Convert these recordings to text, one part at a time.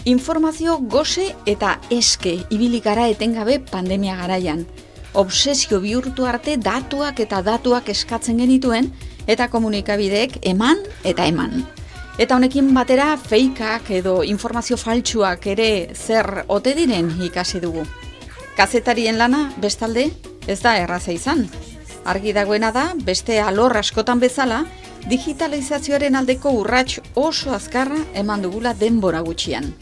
Informazio gose eta eske ibili gara etengabe pandemia garaian. Obsesio bihurtu arte datuak eta datuak eskatzen genituen eta komunikabideek eman eta eman. Eta honekin batera feikak edo informazio faltsuak ere zer ote diren ikasi dugu. Kazetarien lana bestalde ez da erraza izan. Argi dagoena da beste alor askotan bezala digitalizazioaren aldeko urrats oso azkarra eman dugula denbora gutxian.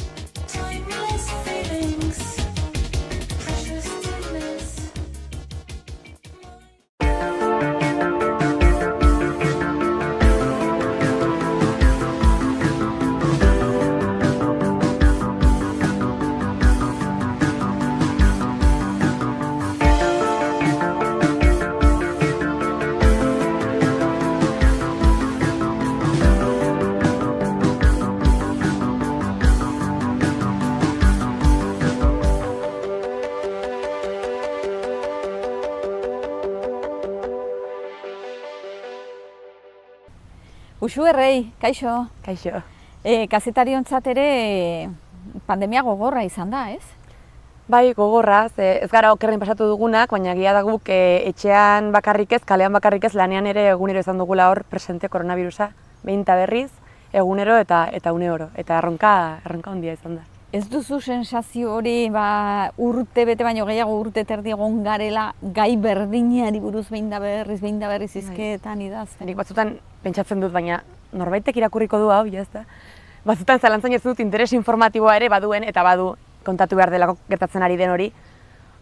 Uxu errei, kaixo. Kaixo. Kazetariontzat ere pandemia gogorra izan da, ez? Bai, gogorra, ez gara okerren pasatu dugunak, baina egia da guk etxean bakarrik ez, kalean bakarrik ez, lanean ere egunero izan dugula hor presente koronavirusa, behin eta berriz, egunero eta une oro, eta erronka handia izan da. Ez duzu sensazio hori urte bete baino gehiago urte terdi egon garela gai berdinari buruz behin da berriz hizketan idazten? Nik batzutan pentsatzen dut, baina norbaitek irakurriko du hau, jazta. Batzutan zalantzan ez dut interes informatiboa ere baduen eta badu kontatu behar delako gertatzen ari den hori.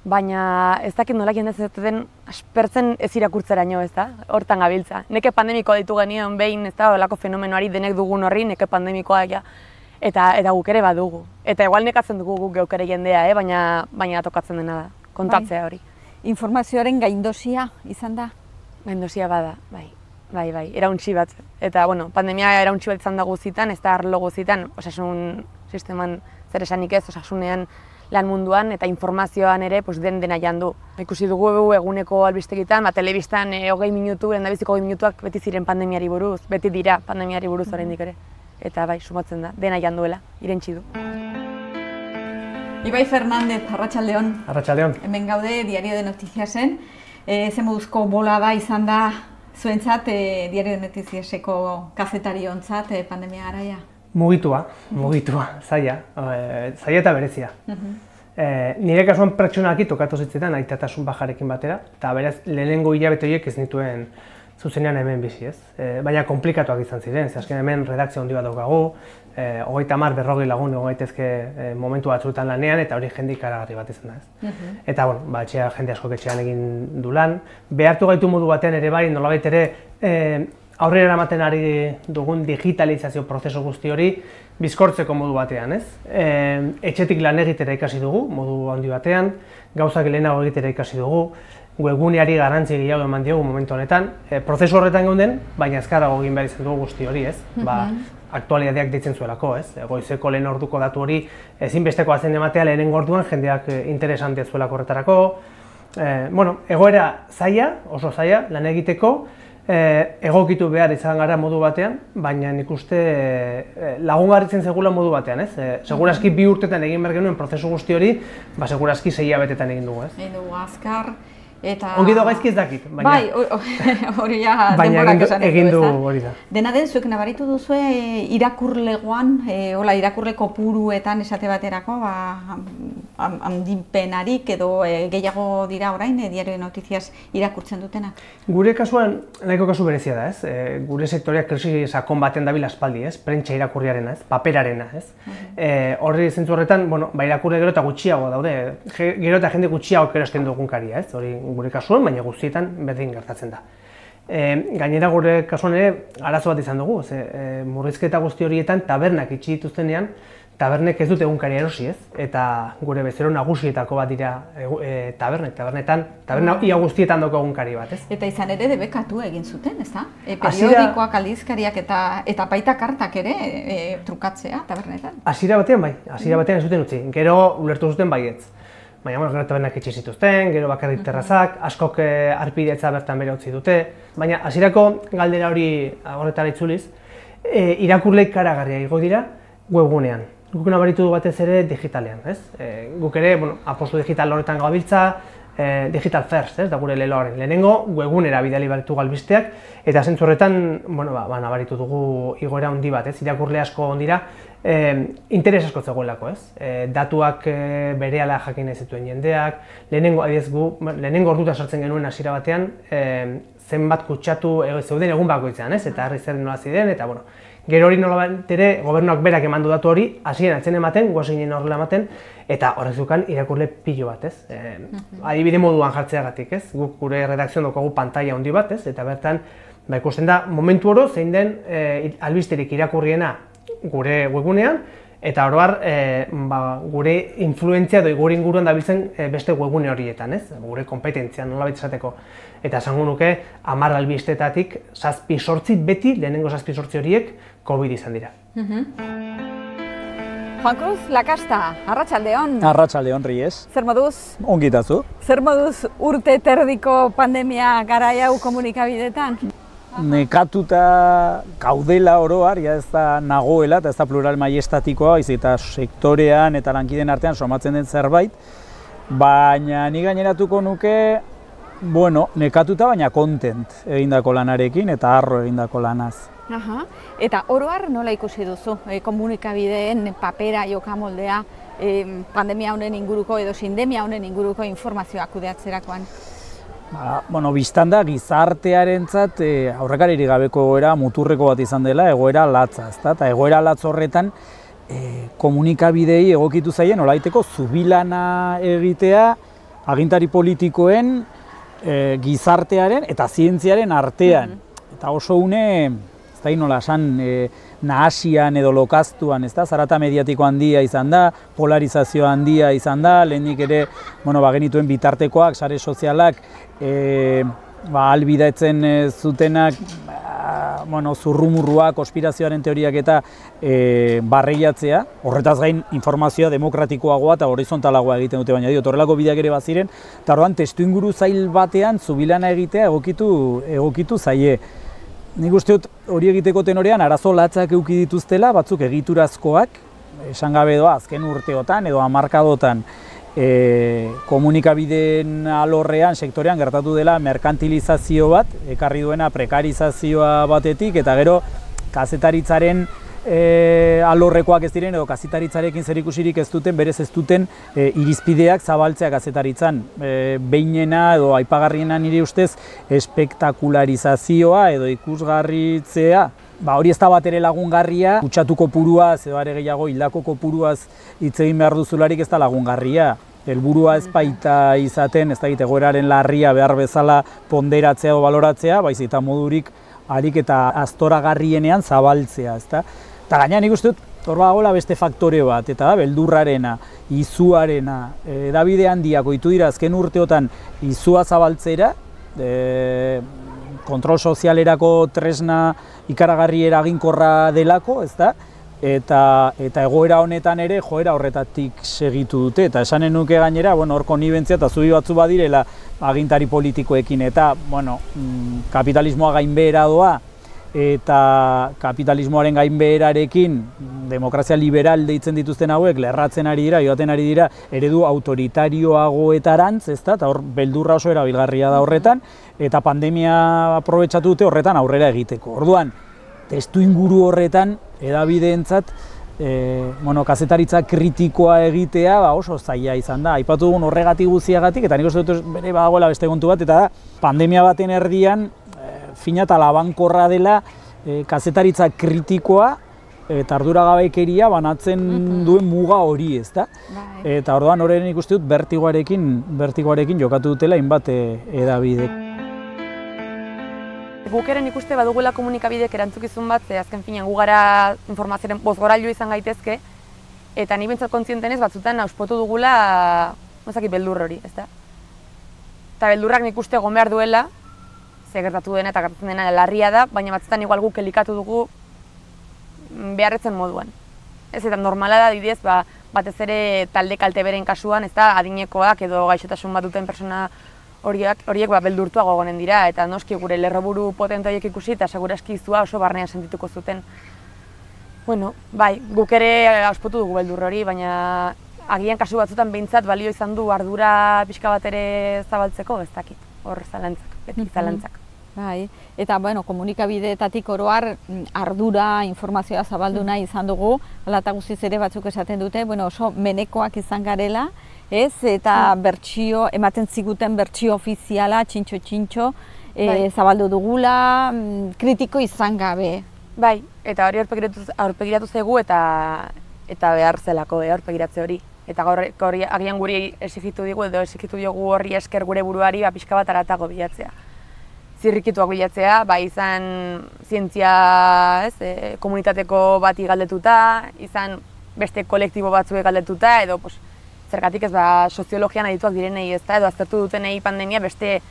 Baina ez dakit nola jendez ez den aspertzen ez irakurtzeraino, ez da? Hortan gabiltza. Neke pandemikoa ditu genion behin, ez da, olako fenomenoari denek dugun horri, neke pandemikoa eta guk ere badugu. Eta igual nekatzen dugu guk geuk ere jendea, baina tokatzen dena da, kontatzea hori. Informazioaren gaindosia izan da? Gaindosia bada, bai, erauntsi bat. Eta, pandemia erauntsi bat izan da guzitan, ez da arlo guzitan, osasun sisteman zer esanik ez, osasunean lan munduan eta informazioan ere dena jandu. Ikusi dugu eguneko albistegitan, telebistan 20 minutu, lehendabiziko 20 minutuak beti ziren pandemiari buruz, beti dira pandemiari buruz oraindik ere. Eta bai, sumatzen da, dena janduela, irentsi du. Ibai Fernandez, arratsaldeon. Arratsaldeon. Hemen gaude Diario de Noticiasen. Ze moduzko bolada izan da zuentzat Diario de Noticiaseko kazetariontzat pandemia garaia? Mugitua, zaila eta berezia. Nire kasuan pertsonalki tokatu zitzetan aitatasun bajarekin batera, eta beraz lehenengo hilabete horiek ez nituen zuzenean hemen bizi, ez? Baina komplikatuak izan ziren, ze azken hemen redakzio handi bat daukagu, 30-40 lagun egon gaitezke momentu batzuetan lanean, eta hori jende ikaragarri bat izan da, ez? Eta, etxea jende askok etxean egin du lan. Behartu gaitu modu batean ere bai, nolabait ere aurrera eramaten ari dugun digitalizazio prozesu guzti hori bizkortzeko modu batean, ez? Etxetik lan egitera ikasi dugu, modu handi batean, gauzak lehenago egitera ikasi dugu, webguneari garrantzi gehiago eman diogu momentu honetan, prozesu horretan geunden, baina azkarrago egin behar izan dugu guzti hori, ez? Aktualitateak deitzen zuelako, ez? Goizeko lehen orduko datu hori ezinbestekoa zen ematea lehenengo orduan jendeak interesantea zuelako horretarako. Egoera zaila, oso zaila, lan egiteko, egokitu behar izan gara modu batean, baina nik uste lagungarritzen segula modu batean, ez? Segurazki 2 urtetan egin behar genuen prozesu guzti hori, segurazki 6 hilabetetan egin dugu, ez? Egin dugu azkar, eta... Ongi do gaizki ez dakit, baina... Bai, hori ja denborak esan edo, egin du hori da. Dena den, zuek nabaritu duzue irakurlegoan, irakurle kopuruetan esate baterako, handipenarik edo gehiago dira orain, Diario de Noticias irakurtzen dutenak? Gure kasuan, nahiko kasu berezia da, ez? Gure sektoreak krisi sakon baten dabil aspaldi, ez? Prentsa irakurriarena, ez? Paperarena, ez? Horri zentzu horretan, irakurle gero eta gutxiago daude, gero eta jende gutxiago erosten dugun karia, ez? Hori gure kasuan, baina guztietan berdin gertatzen da. Gainera gure kasuan ere arazo bat izan dugu, murrizketa guzti horietan tabernak itxi dituztenean, tabernek ez dute egunkaria erosi, ez? Eta gure bezero nagusietako bat dira taberna ia guztietan dauko egunkari bat, ez? Eta izan ere debekatu egin zuten, ez da? Periodikoak, aldizkariak eta baita kartak ere trukatzea tabernetan. Hasiera batean bai, hasiera batean ez zuten utzi, gero ulertu zuten baietz. Baina, gero tabernak itxi zituzten, gero bakarrik terrazak, askok arpidetza bertan bere utzi dute. Baina, hasierako galdera hori horretara itzuliz, irakurleik karagarria igo dira webgunean. guk nabaritu du batez ere digitalean, ez? Guk ere, apostu digital horretan gabiltza, digital first, ez, da gure leloaren. Lehenengo, webgunera bidali baritu galbisteak, eta zentzu horretan, nabaritu dugu igoera handi bat, ez, irakurle asko ondira, interes asko zegoelako, ez? Datuak berehala jakin nahi zituen jendeak, lehenengo orduta sartzen genuen hasiera batean, zenbat kutsatu zeuden egun bakoitzean, ez? Eta herri zer nola ziren, eta gero hori nolabait ere gobernuak berak emandu datu hori, hasieran atzen ematen, guazinen horrela ematen, eta horrez dukan irakurle pilo bat, ez? Adibide moduan jartzeagatik, ez? Guk gure redakzioan daukagu pantalla handi bat, ez? Eta bertan, ikusten da, momentu oro zein den albisterik irakurriena gure webgunean, eta oro har, gure influentzia edo gure inguruan dabiltzen beste webgune horietan, ez? Gure kompetentzia nolabait esateko. Eta esango nuke, 10 albistetatik 7-8 beti, lehenengo 7-8 horiek, COVID izan dira. Juan Cruz Lakasta, arratsaldeon. Arratsaldeon, Ries. Zer moduz? Ongi itazu. Zer moduz urte terdiko pandemia garai hau komunikabideetan? Nekatuta gaudela oroar, ja ez da nagoela, eta ez da plural maiestatikoa, eta sektorean eta lankideen artean somatzen den zerbait, baina ni gaineratuko nuke, nekatuta baina content egindako lanarekin eta harro egindako lanaz. Eta oroar nola ikusi duzu komunikabideen papera jokamoldea pandemia honen inguruko edo sindemia honen inguruko informazioak kudeatzerakoan? Biztanda gizartearentzat aurrekaririk gabeko egoera muturreko bat izan dela, egoera latza, eta egoera latz horretan komunikabidei egokitu zaien nolaiteko zubilana egitea agintari politikoen, gizartearen eta zientziaren artean. Eta oso une, ez da nola esan, nahasian edo lokaztuan, zarata mediatiko handia izan da, polarizazio handia izan da, lehenik ere, genituen bitartekoak, sare sozialak, albidatzen zutenak, zurrumurruak, konspirazioaren teoriak eta barreiatzea, horretaz gain informazioa demokratikoagoa eta horizontalagoa egiten dute, baina horrelako bideak ere baziren, eta horrean testu inguru zail batean zubilana egitea egokitu zaie. Nik uste dut hori egiteko tenorean arazo latzak eduki dituztela, batzuk egiturazkoak, esan gabe doa azken urteotan edo hamarkadotan komunikabideen alorrean, sektorean gertatu dela merkantilizazio bat, ekarri duena prekarizazioa batetik, eta gero kazetaritzaren alorrekoak ez diren edo kazetaritzarekin zerikusirik ez duten, berez ez duten irizpideak zabaltzea kazetaritzan. Behinena edo aipagarriena nire ustez espektakularizazioa edo ikusgarritzea. Hori ez da bat ere lagungarria, kutsatu kopuruaz edo are gehiago hildako kopuruaz hitz egin behar duzularik ez da lagungarria. Helburua ez baita izaten, ez da egoeraren larria behar bezala ponderatzea edo baloratzea, baizik eta modurik harik eta aztoragarrienean zabaltzea, ezta? Eta gaina nik uste dut, hor badagoela beste faktore bat, eta da, beldurrarena, izuarena, edabide handiak ohitu dira azken urteotan izua zabaltzera, kontrol sozialerako tresna ikaragarri eraginkorra delako, ezta? Eta egoera honetan ere joera horretatik segitu dute, eta esanen nuke gainera, hor konnibentzia eta zubi batzu badirela agintari politikoekin, eta kapitalismoa gainbehera doa, eta kapitalismoaren gainbeherarekin demokrazia liberal deitzen dituzten hauek lerratzen ari dira, joaten ari dira eredu autoritarioagoetarantz, ezta? Eta hor beldurra oso erabilgarria da horretan, eta pandemia aprobetxatu dute horretan aurrera egiteko. Orduan, testu inguru horretan edabideentzat kazetaritza kritikoa egitea oso zaila izan da. Aipatu dugun horregatik guztiagatik, eta nik uste dut bere badagoela beste kontu bat, eta da, pandemia baten erdian fina eta labankorra dela kazetaritza kritikoa eta arduragabekeria banatzen duen muga hori, ezta? Eta orduan horren ikusten dut bertigoarekin jokatu dutela hainbat edabidek. Guk ere ikuste badugula komunikabidek erantzukizun bat, azken finean gu gara informazioaren bozgorailu izan gaitezke, eta ni bintzat kontzientenez batzutan auspotu dugula beldur hori, ezta? Eta beldurrak nik uste egon behar duela, ze gertatu dena eta gertatzen dena larria da, baina batzutan igual guk elikatu dugu beharretzen moduan. Ez eta normala da adibidez, batez ere talde kalte beren kasuan, ezta, adinekoak edo gaixotasun bat duten persona horiek beldurtuago egonen dira, eta noski gure lerroburu potente horiek ikusi eta seguraski izua oso barnean sentituko zuten. Bueno, bai, guk ere auspotu dugu beldur hori, baina agian kasu batzutan behintzat balio izan du ardura pixka bat ere zabaltzeko, ez dakit, hor zalantzak, beti zalantzak. Bai, eta bueno, komunikabideetatik oro har ardura, informazioa zabaldu nahi izan dugu, hala eta guztiz ere batzuk esaten dute, bueno, oso menekoak izan garela, ez? Eta bertsio, ematen ziguten bertsio ofiziala, txintxo, zabaldu dugula, kritiko izan gabe. Bai, eta hori aurpegiratu zaigu eta behar zelako aurpegiratze hori. Eta gaur agian guri exigitu digu edo exigitu diogu horri esker gure buruari pixka bat aratago bilatzea. Zirrikituak bilatzea, izan zientzia, komunitateko bati galdetuta, izan beste kolektibo batzuek galdetuta, edo zergatik ez soziologian adituak direnei ezta, edo aztertu dutenei pandemia beste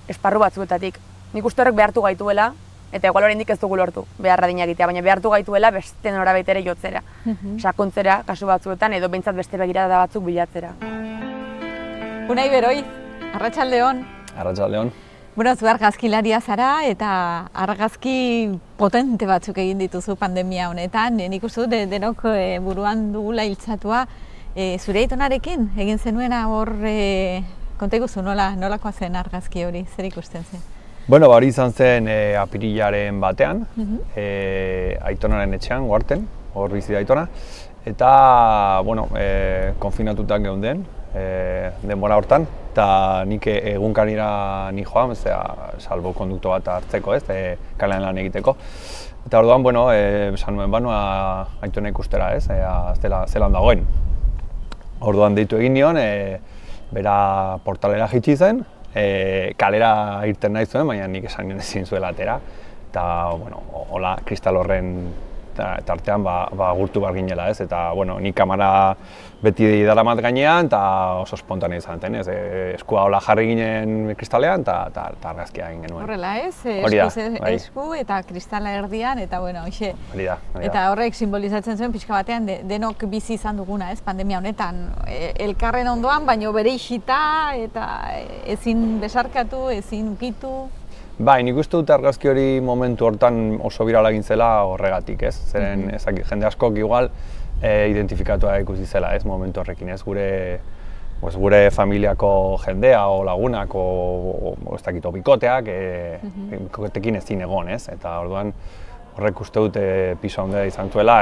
esparru batzuetatik. Nik uste horrek behartu gaituela, eta igual oraindik ez dugu lortu beharra adina egitea, baina behartu gaituela beste norabait ere jotzera, sakontzera kasu batzuetan, edo behintzat beste begirada batzuk bilatzera. Unai Beroiz, arratsaldeon. Arratsaldeon. Bueno, zu argazkilaria zara eta argazki potente batzuk egin dituzu pandemia honetan. Nik uste dut denok buruan dugula iltzatua. Zure aitonarekin egin zenuena hor konta iguzu nolakoa zen argazki hori, zer ikusten zen? Bueno, hori izan zen apirilaren batean, aitonaren etxean, Uharten, hor bizi da aitona. Eta, bueno, konfinatutak geunden, denbora hortan, eta nik egunkarira ni joan, salbo kondukto bat hartzeko, kalean lan egiteko. Eta orduan, bueno, esan nuen banua aitona ikustera, zelan dagoen. Orduan deitu egin nion, bera portalera jitsi zen, kalera irten nahi zuen, baina nik esan nion ezin zuela atera. Eta, bueno, hola, kristal horren tartean gurtu behar ginela, eta, bueno, nik kamera beti daramat gainean, eta oso espontane izan zen, eskua hola jarri ginen kristalean, eta argazkia egin genuen. Horrela, esku eta kristala erdian, eta, bueno, hoxe. Hori da. Eta horrek simbolizatzen zuen pixka batean, denok bizi izan duguna, pandemia honetan, elkarren ondoan, baino bere isita, eta ezin besarkatu, ezin ukitu. Bai, nik uste dut argazki hori momentu hortan oso birala egin zela horregatik, Zeren jende askok igual identifikatua ikusi zela, momentu horrekin, gure familiako jendea o lagunak o ez dakit bikoteak, bikotekin ezin egon, eta orduan horrek uste dut pisu handia izan zuela,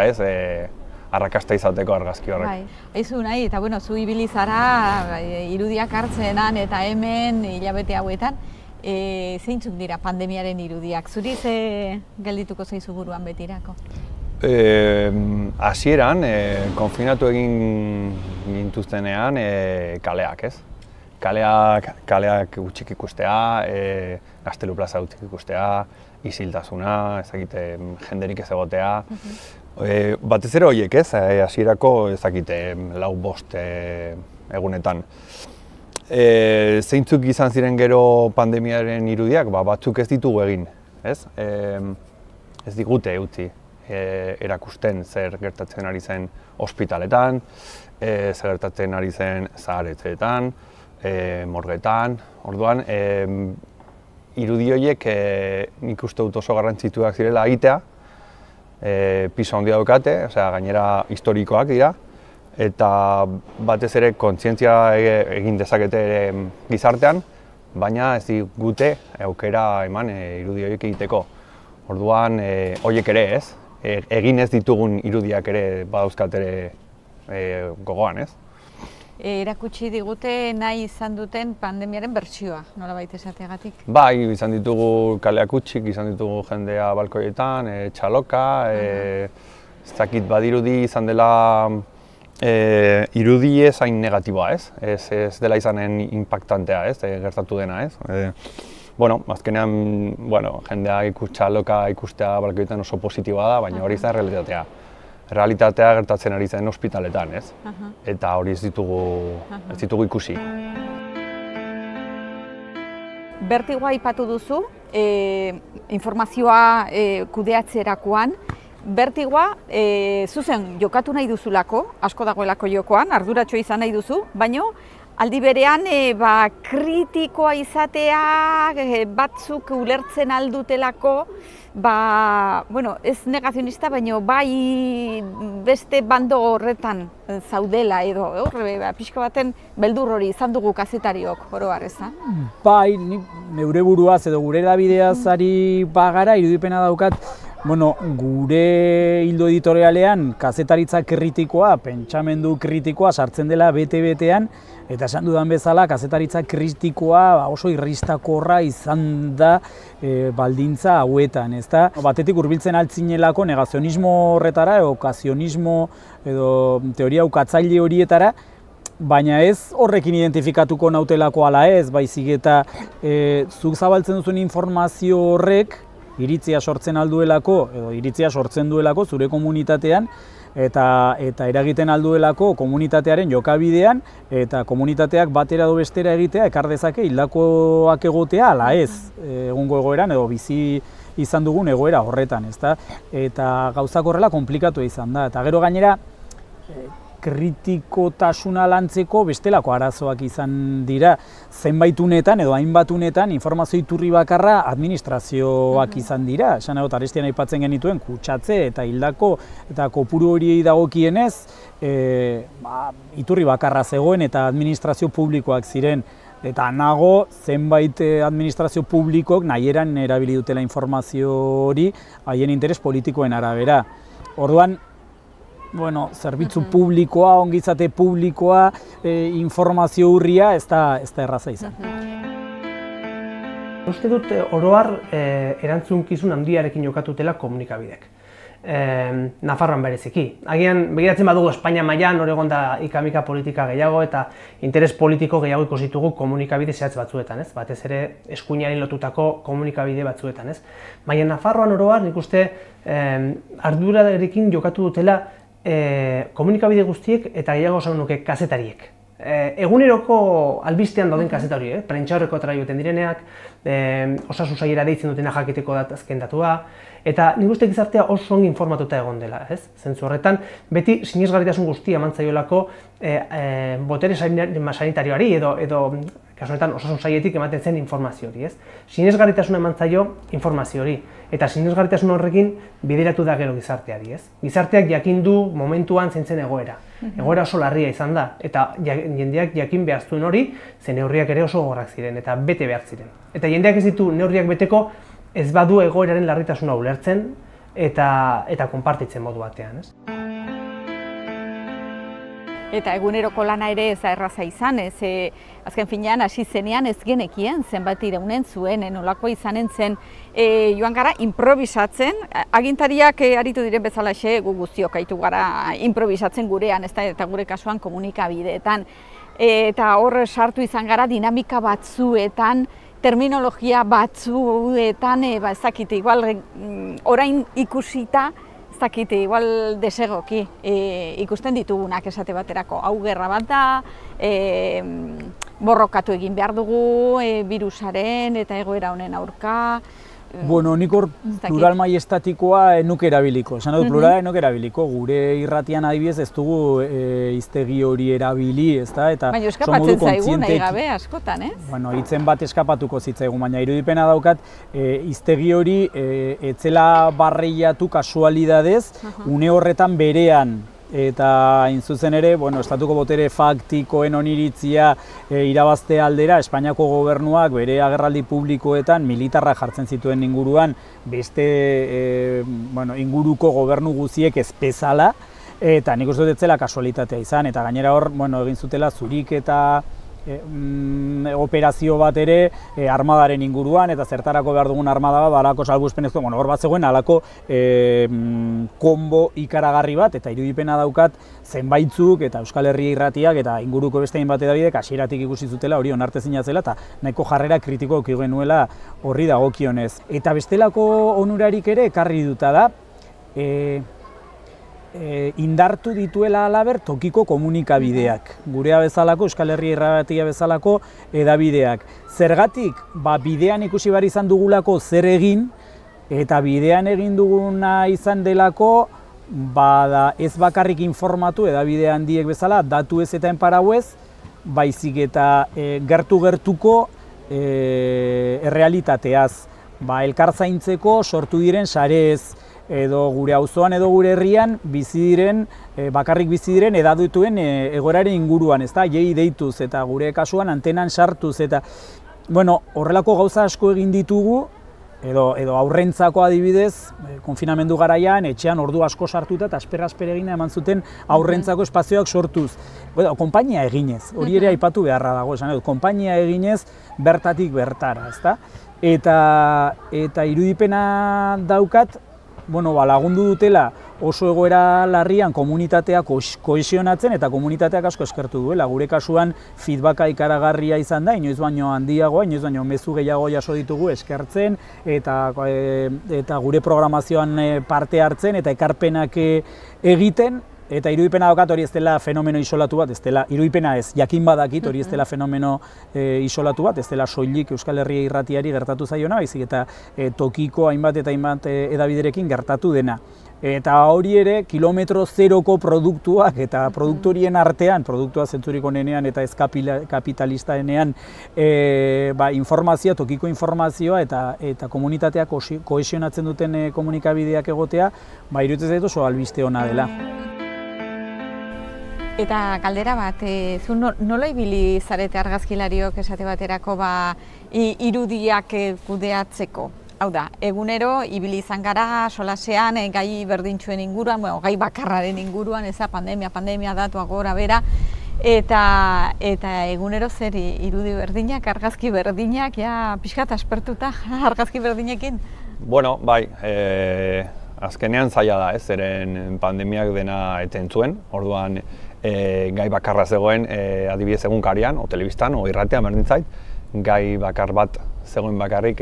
arrakasta izateko argazki horrek. Bai, aizu nahi, eta bueno, zu ibili zara irudiak hartzenan eta hemen hilabete hauetan, zeintzuk dira pandemiaren irudiak? Zuri ze geldituko zaizu buruan betirako? Hasieran, konfinatu egin gintuztenean kaleak, Kaleak gutxik ikustea, Gaztelu plaza gutxik ikustea, isiltasuna, jenderik ez egotea. Batez ere horiek, hasierako lau bost egunetan. Zeintzuk izan ziren gero pandemiaren irudiak, batzuk ez ditugu egin, ez digute utzi erakusten zer gertatzen ari zen ospitaletan, zer gertatzen ari zen zaharetzeetan, morgetan. Orduan, irudi horiek nik uste dut oso garrantzituak zirela egitea, pisu handia daukate, gainera historikoak dira, eta batez ere kontzientzia egin dezakete gizartean, baina ez digute aukera eman irudi horiek egiteko. Orduan, horiek ere egin ez ditugun irudiak ere badauzkat ere gogoan, Erakutsi digute nahi izan duten pandemiaren bertsioa, nolabait esateagatik? Bai, izan ditugu kaleak hutsik, izan ditugu jendea balkoietan, txaloka, ez dakit badirudi izan dela irudi ez hain negatiboa, ez dela izanen impactantea, gertatu dena, Bueno, azkenean, jendea txaloka ikustea balkoietan oso positiboa da, baina hori da realitatea. Realitatea gertatzen ari zen ospitaletan, Eta hori ez ditugu ikusi. Bertigoa aipatu duzu, informazioa kudeatzerakoan. Bertigoa zuzen jokatu nahi duzulako, asko dagoelako jokoan, arduratxo izan nahi duzu, baina aldi berean kritikoa izatea, batzuk ulertzen aldutelako, ez negazionista, baina bai beste bando horretan zaudela edo, pixka baten beldur hori izan dugu kazetariok, oro har, ez da? Bai, neure buruaz edo gure edabideaz ari bagara, irudipena daukat, gure hildo editorialean kazetaritza kritikoa, pentsamendu kritikoa sartzen dela bete-betean, eta esan dudan bezala, kazetaritza kritikoa oso irristakorra izan da baldintza hauetan, ezta? Batetik hurbiltzen altzinelako negazionismo horretara, okazionismo edo teoria ukatzaile horietara, baina ez horrekin identifikatuko nautelako ala ez, baizik eta zuk zabaltzen duzuen informazio horrek iritzia sortzen alduelako, edo iritzia sortzen duelako zure komunitatean, eta eragiten alduelako komunitatearen jokabidean, eta komunitateak batera edo bestera egitea ekar dezake hildakoak egotea ala ez egungo egoeran edo bizi izan dugun egoera horretan, ezta? Eta gauzak horrela konplikatu izan da, eta gero gainera kritikotasuna lantzeko bestelako arazoak izan dira. Zenbaitunetan edo hainbatunetan informazio iturri bakarra administrazioak izan dira. Esan egot, arestian aipatzen genituen kutsatze eta hildako eta kopuru horiei dagokienez iturri bakarra zegoen eta administrazio publikoak ziren. Eta nago zenbait administrazio publikok nahieran erabili dutela informazio hori haien interes politikoen arabera. Orduan, zerbitzu publikoa, ongizate publikoa, informazio urria, ez da erraza izan. Uste dut, oro har, erantzunkizun handiarekin jokatutela komunikabidek. Nafarroan bereziki. Agian, begiratzen badugu Espainia mailan hor egon da ika-mika politika gehiago eta interes politiko gehiago ikusitugu komunikabide zehatz batzuetan, ez? Batez ere eskuinari lotutako komunikabide batzuetan, ez? Baina Nafarroan oro har, nik uste ardurarekin jokatu dutela komunikabide guztiek eta gehiago esan nuke kazetariek. Eguneroko albistean dauden kazetari, prentsaurrekoetara joaten direneak, osasun sailera deitzen dutena jakiteko azken datua, eta nik uste gizartea oso ongi informatuta egon dela, ez? Zentzu horretan, beti sinesgarritasun guztia eman zaiolako botere sanitarioari edo kasu honetan osasun sailetik ematen zen informazio hori, ez? Sinesgarritasuna eman zaio informazio hori, eta sinesgarritasun horrekin bideratu da gero gizarteari, ez? Gizarteak jakin du momentuan zein zen egoera. Egoera oso larria izan da, eta jendeak jakin behar zuen hori, ze neurriak ere oso gogorrak ziren, eta bete behar ziren. Eta jendeak ez ditu neurriak beteko ez badu egoeraren larritasuna ulertzen eta konpartitzen modu batean, ez? Eta eguneroko lana ere ez da erraza izan, azken finean hasi zenean ez genekien zenbat iraunen zuen, nolako izanen zen, joan gara improvisatzen, agintariak aritu diren bezalaxe gu guztiok aitu gara improvisatzen gurean, eta gure kasuan komunikabideetan. Eta hor sartu izan gara dinamika batzuetan, terminologia batzuetan, ez dakite, igual orain ikusita, ez dakite, igual desegoki ikusten ditugunak esate baterako. Hau gerra bat da, borrokatu egin behar dugu birusaren eta egoera honen aurka. Nik hor plural maiestatikoa nuke erabiliko. Esan dut plurala nuke erabiliko. Gure irratian adibidez ez dugu hiztegi hori erabili, ezta? Baina eskapatzen zaigu nahi gabe askotan, ez? Hitzen bat eskapatuko zitzaigun, baina irudipena daukat hiztegi hori etzela barreiatu kasualidadez, une horretan berean. Eta hain zuzen ere, estatuko botere faktikoen oniritzia irabazte aldera, Espainiako gobernuak bere agerraldi publikoetan militarrak jartzen zituen inguruan beste inguruko gobernu guziek ez bezala, eta nik uste dut ez zela kasualitatea izan, eta gainera hor egin zutela zurik eta operazio bat ere armadaren inguruan, eta zertarako behar dugun armada bat, halako salbuespenezko, hor bat zegoen halako konbo ikaragarri bat, eta irudipena daukat zenbaitzuk eta Euskal Herria irratiak eta inguruko beste hainbat hedabidek hasieratik ikusi zutela hori onartezina zela eta nahiko jarrera kritiko eduki genuela horri dagokionez. Eta bestelako onurarik ere ekarri duta da, indartu dituela halaber tokiko komunikabideak, gurea bezalako, Euskal Herria irratia bezalako edabideak. Zergatik, bidean ikusi behar izan dugulako zer egin, eta bidean egin duguna izan delako, ez bakarrik informatu edabide handiek bezala, datu ez eta enparau ez, baizik eta gertu-gertuko errealitateaz. Elkar zaintzeko sortu diren sarez, edo gure auzoan edo gure herrian bizi diren, bakarrik bizi diren edadutuen egoeraren inguruan, ezta? Jei deituz eta gure kasuan antenan sartuz eta horrelako gauza asko egin ditugu, edo aurrentzako adibidez, konfinamendu garaian, etxean ordu asko sartuta eta asper egina eman zuten aurrentzako espazioak sortuz. Konpainia eginez, hori ere aipatu beharra dago, esan dut, konpainia eginez bertatik bertara, ezta? Eta irudipena daukat, lagundu dutela oso egoera larrian komunitatea kohesionatzen eta komunitateak asko eskertu duela. Gure kasuan feedbacka ikaragarria izan da, inoiz baino handiagoa, inoiz baino mezu gehiago jaso ditugu eskertzen eta gure programazioan parte hartzen eta ekarpenak egiten. Eta irudipena daukat hori ez dela fenomeno isolatu bat, ez dela, irudipena ez, jakin badakit hori ez dela fenomeno isolatu bat, ez dela soilik Euskal Herria irratiari gertatu zaiona, baizik eta tokiko hainbat eta hainbat edabiderekin gertatu dena. Eta hori ere, kilometro zeroko produktuak eta produktorien artean, produktua zentzurik onenean eta ez kapitalistaenean, informazioa, tokiko informazioa eta komunitatea kohesionatzen duten komunikabideak egotea, iruditzen zaitu oso albiste ona dela. Eta galdera bat, zu nola ibili zarete argazkilariok esate baterako irudiak kudeatzeko? Hau da, egunero ibili izan gara solasean gai berdintxuen inguruan, gai bakarraren inguruan, pandemia datua gora bera, eta egunero zer irudi berdinak, argazki berdinak, pixkat aspertuta argazki berdinekin? Bueno, bai, azkenean zaila da, zeren pandemiak dena eten zuen, orduan gai bakarra zegoen adibidez egunkarian, o telebistan, o irratean berdin zait, gai bakar bat zegoen bakarrik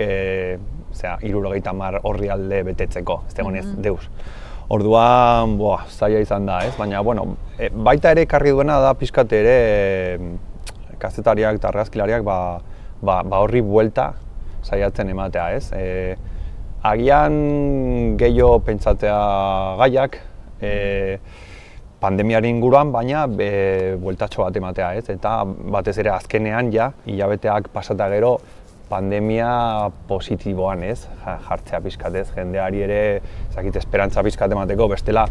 70 orrialde betetzeko, ez zegoen ez deus. Orduan, zaila izan da, baina, baita ere ekarri duena da pixkat ere kazetariak eta argazkilariak horri buelta saiatzen ematea, ez? Agian gehiago pentsatzea gaiak, pandemiaren inguruan, baina bueltatxo bat ematea, ez? Eta batez ere azkenean hilabeteak pasata gero pandemia positiboan, ez? Jartzea pixkat, ez? Jendeari ere, esperantza pixkat emateko, bestela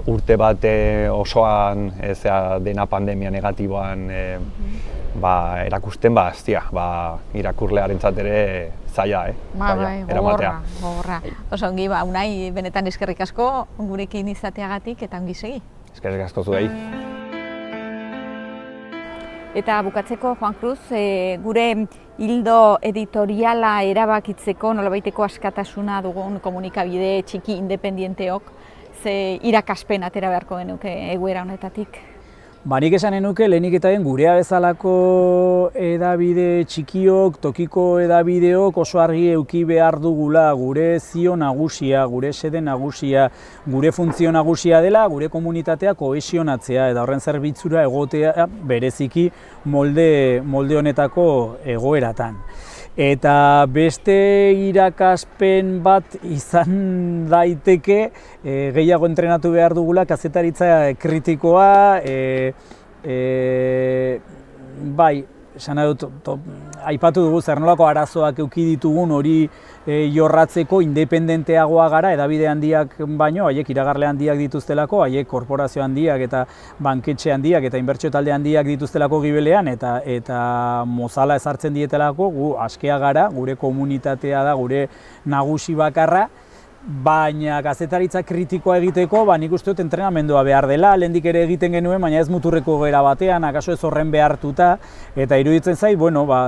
urte bat osoan dena pandemia negatiboan erakusten, irakurlearentzat ere zaila, eramatea. Gogorra. Oso ongi, Unai, benetan eskerrik asko gurekin izateagatik eta ongi segi. Eskerrik asko zuei. Eta bukatzeko, Juan Cruz, gure hildo editoriala erabakitzeko nolabaiteko askatasuna dugun komunikabide txiki independienteok, ze irakaspen atera beharko genuke egoera honetatik? Nik esan nuke lehenik eta gurea bezalako edabide txikiok, tokiko edabideok oso argi eduki behar dugula gure zio nagusia, gure sede nagusia, gure funtzio nagusia dela, gure komunitatea kohesionatzea eta horren zerbitzura egotea bereziki molde honetako egoeratan. Eta beste irakaspen bat izan daiteke gehiago entrenatu behar dugula kazetaritza kritikoa, aipatu dugu zer nolako arazoak eduki ditugun hori jorratzeko independenteagoa gara, edabide handiak baino, haiek iragarle handiak dituztelako, haiek korporazio handiak eta banketxe handiak eta inbertsio talde handiak dituztelako gibelean eta mozala ezartzen dietelako, gu askea gara, gure komunitatea da, gure nagusi bakarra, baina kazetaritza kritikoa egiteko, nik uste dut entrenamendua behar dela, lehendik ere egiten genuen, baina ez muturreko gera batean, akaso ez horren behartuta, eta iruditzen zait,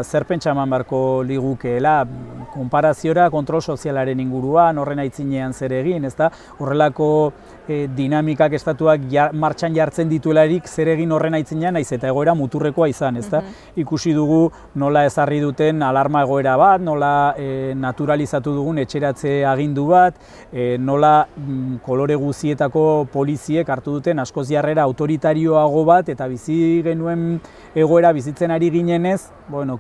zer pentsa eman beharko ligukeela, konparaziora kontrol sozialaren inguruan, horren aitzinean zer egin, ezta? Horrelako dinamikak estatuak martxan jartzen dituelarik zer egin horren aitzinean, naiz eta egoera muturrekoa izan, ezta? Ikusi dugu nola ezarri duten alarma egoera bat, nola naturalizatu dugun etxeratze agindu bat, nola kolore guzietako poliziek hartu duten askoz jarrera autoritarioago bat eta bizi genuen egoera bizitzen ari ginenez,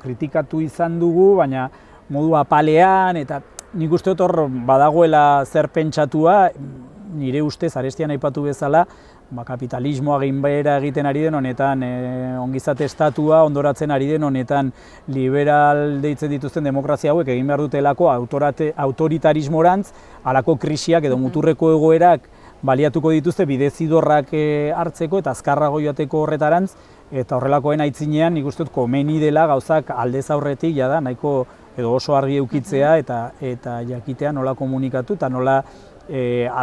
kritikatu izan dugu, baina modu apalean eta nik uste dut hor badagoela zer pentsatua, nire ustez arestian aipatu bezala, kapitalismoa gainbehera egiten ari den honetan, ongizate estatua ondoratzen ari den honetan, liberal deitzen dituzten demokrazia hauek egin behar dutelako autoritarismorantz, halako krisiak edo muturreko egoerak baliatuko dituzte bidezidorrak hartzeko eta azkarrago joateko horretarantz, eta horrelakoen aitzinean nik uste dut komeni dela gauzak aldez aurretik jada nahiko edo oso argi eukitzea eta jakitea nola komunikatu eta nola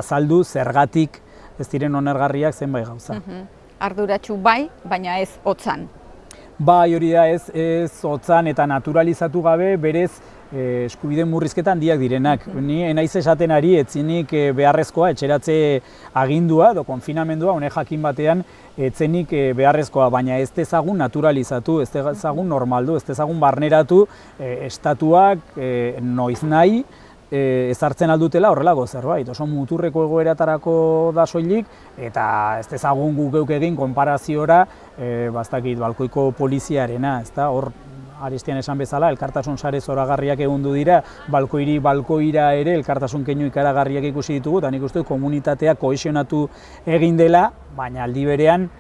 azaldu zergatik ez diren onergarriak zenbait gauza. Arduratsu bai, baina ez hotzan. Bai, hori da ez hotzan eta naturalizatu gabe berez eskubide murrizketa handiak direnak. Ni enaiz esaten ari etzinik beharrezkoa etxeratze agindua edo konfinamendua honek jakin batean etzenik beharrezkoa, baina ez dezagun naturalizatu, ez dezagun normaldu, ez dezagun barneratu estatuak noiz nahi ezartzen aldutela horrelako zerbait. Oso muturreko egoeratarako da soilik eta ez dezagun guk geuk egin konparaziora bastakit balkoiko poliziarena, ezta? Hor Aristian esan bezala, elkartasun sare zoragarriak egundu dira, balkoira ere elkartasun keinu ikaragarriak ikusi ditugu, eta nik uste dut komunitatea kohesionatu egin dela, baina aldi berean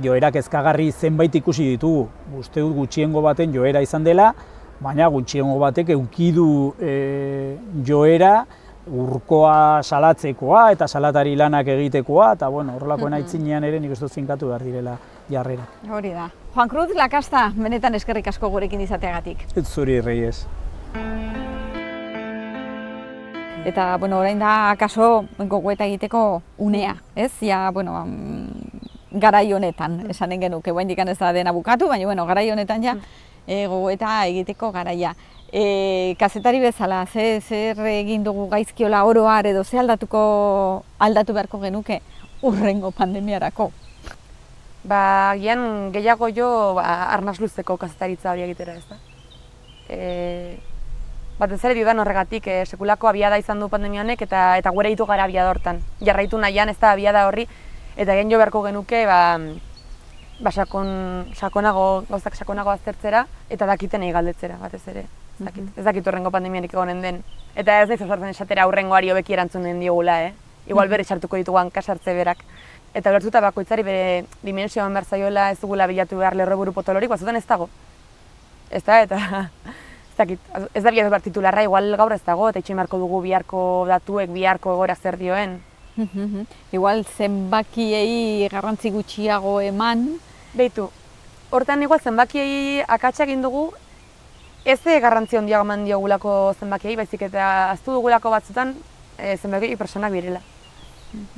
joera kezkagarri zenbait ikusi ditugu. Uste dut gutxiengo baten joera izan dela, baina gutxiengo batek edukidu joera urkoa salatzekoa eta salatari lanak egitekoa, eta bueno, horrelakoen aitzinean ere nik uste dut finkatu behar direla jarrerak. Hori da. Juan Cruz Lakasta, benetan eskerrik asko gurekin izateagatik. Ez zuri, Reyes. Eta, bueno, orain da, akaso, gogoeta egiteko unea, ez? Ja, bueno, garai honetan, esanen genuke, oraindik ez da dena bukatu, baina, bueno, garai honetan ja, gogoeta egiteko garaia. Kazetari bezala, zer egin dugu gaizkiola oroar edo ze aldatu beharko genuke hurrengo pandemiarako? Ba, gian gehiago jo arnaz luzeko kazetaritza hori egitera, ez da? Batez ere diodan horregatik, sekulako abiada izan du pandemia honek eta gure ditu gara abiada hortan. Jarraitu nahian ez da abiada horri, eta gen jo beharko genuke gauzak sakonago aztertzera eta dakiten galdetzera, batez ere. Ez dakit horrengo pandemiarik egonen den. Eta ez naiz osartzen esatera hurrengoari hobeki erantzunen diogula, igual berri sartuko ditugu hankasartze berak. Eta ulertuta bakoitzari bere dimensioan behar zaiola ez dugula bilatu behar lerroburu potolorik, batzutan ez dago. Ez da, eta ez da bilatu behar titularra, igual gaur ez dago, eta itxoin beharko dugu biharko datuek, biharko egora zer dioen. Igual zenbakiei garrantzi gutxiago eman. Beitu, hortan igual zenbakiei akatsa egin dugu, ez garrantzi handiago eman diogulako zenbakiei, baizik eta aztu dugulako batzutan zenbakiei personak birela.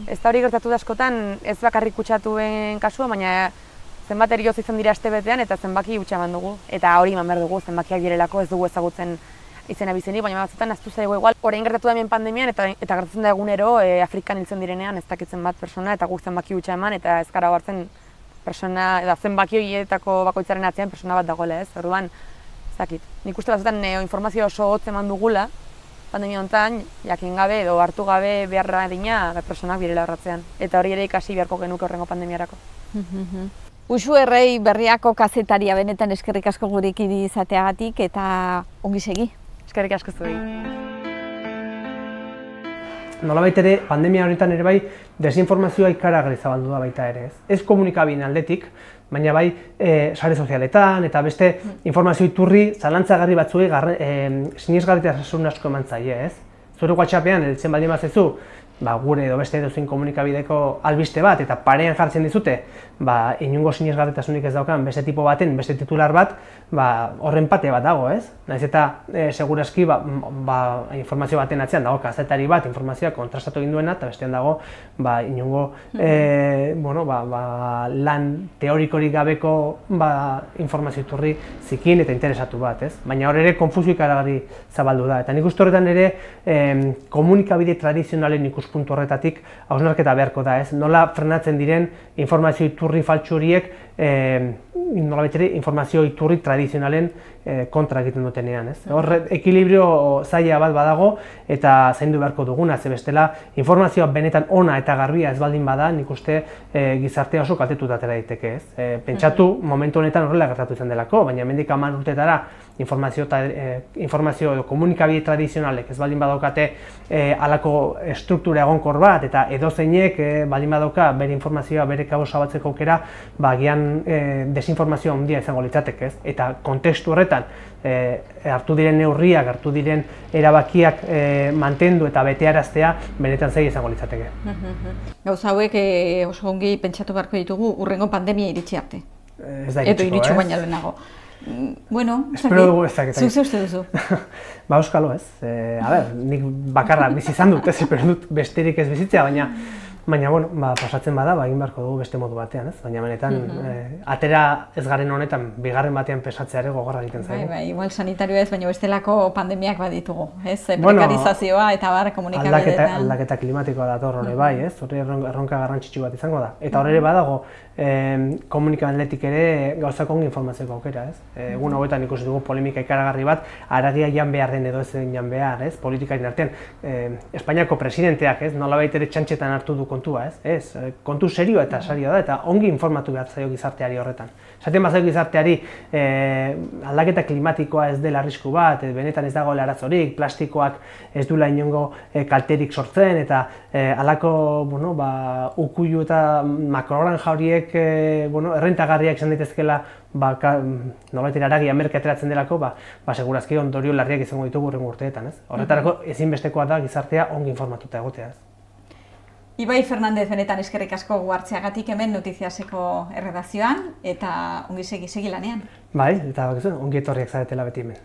Ez da hori gertatu da askotan, ez bakarrik kutsatuen kasua, baina zenbat erioz izan dira astebetean eta zenbaki hutsa eman dugu. Eta hori eman behar dugu, zenbakiak direlako ez dugu ezagutzen izena bizenik, baina batzutan aztu zaigu igual. Orain gertatu da hemen pandemian eta gertatzen da egunero Afrikan hiltzen direnean ez dakitzen bat persona eta guk zenbaki hutsa eman eta ez gara hartzen persona, eta zenbaki horietako bakoitzaren atzean persona bat dagoela, ez? Orduan, ez dakit. Nik uste batzutan informazio oso hotz eman dugula, pandemia honetan, jakin gabe edo hartu gabe beharra adina personak birela horratzean. Eta hori ere ikasi beharko genuke horrengo pandemiarako. Uxu Errei Berriako kazetaria, benetan eskerrik asko gurekin izateagatik eta ongi segi. Eskerrik asko zuei. Nolabait ere, pandemia honetan ere bai, desinformazioa ikaragarri zabaldu da baita ere, ez? Ez komunikabideen aldetik, baina bai sare sozialetan eta beste informazio iturri zalantzagarri batzuei sinesgarritasun asko eman zaie, ez? Zure WhatsAppean heltzen baldin bazezu, gure edo beste edozein komunikabideko albiste bat eta parean jartzen dizute, inongo sinesgarritasunik ez daukan beste tipo baten, beste titular bat, horren pate bat dago, ez? Naiz eta segurazki informazio baten atzean dago kazetari bat informazioa kontrastatu egin duena eta bestean dago inongo lan teorikorik gabeko informazio iturri zikin eta interesatu bat, ez? Baina hor ere konfusio ikaragarri zabaldu da. Eta nik uste horretan ere komunikabide tradizionalen ikuspuntu horretatik hausnarketa beharko da, ez? Nola frenatzen diren informazio iturri faltsu horiek nolabait ere informazio iturri tradizionalen kontra egiten dutenean, ez? Hor ekilibrio zaila bat badago eta zaindu beharko duguna, ze bestela informazioa benetan ona eta garbia ez baldin bada, nik uste gizartea oso kaltetuta atera daiteke, ez? Pentsatu momentu honetan horrela gertatu izan delako, baina hemendik 10 urtetara informazio edo komunikabide tradizionalek ez baldin badaukate halako estruktura egonkor bat eta edozeinek baldin badauka bere informazioa bere kabuz zabaltzeko aukera, agian desinformazioa handia izango litzateke, ez? Eta kontestu horretan hartu diren neurriak, hartu diren erabakiak mantendu eta betearaztea benetan zaila izango litzateke. Gauza hauek oso ongi pentsatu beharko ditugu hurrengo pandemia iritsi arte. Ez da iritsiko, edo iritsi baina lehenago. Bueno, espero dugu ez dakit. Zuk uste duzu? Ba, euskalo ez. Nik bakarra bizi izan dut, ez espero dut besterik ez bizitzea, baina bueno, pasatzen bada, egin beharko dugu beste modu batean, ez? Baina benetan, atera ez garen honetan, bigarren batean pesatzea ere gogorra egiten zaigu. Bai, igual sanitarioa ez, baina bestelako pandemiak baditugu, ez? Prekarizazioa eta komunikabideetan. Aldaketa klimatikoa dator hori bai, ez? Hori erronka garrantzitsu bat izango da. Eta hor ere badago, komunikabideetik ere gauzak ongi informatzeko aukera, ez? Egun hauetan ikusi dugu polemika ikaragarri bat, haragia jan behar den edo ez jan behar, ez? Politikaren artean, Espainiako presidenteak, ez? Nolabait ere txantxetan hartu du kontua, ez? Kontu serioa eta sarioa da, eta ongi informatu behar zaio gizarteari horretan. Esaten bazaio gizarteari aldaketa klimatikoa ez dela arrisku bat, benetan ez dagoela arazorik, plastikoak ez duela inongo kalterik sortzen, eta halako ukuilu eta makrogranja horiek errentagarriak izan daitezkeela nolabait haragia merke ateratzen delako, segurazki ondorio larriak izango ditugu hurrengo urteetan, ez? Horretarako ezinbestekoa da gizartea ongi informatuta egotea, ez? Ibai Fernandez, benetan eskerrik asko hartzeagatik hemen Notiziaseko erredakzioan eta ongi segi lanean. Bai, eta ongi etorriak zaretela beti hemen.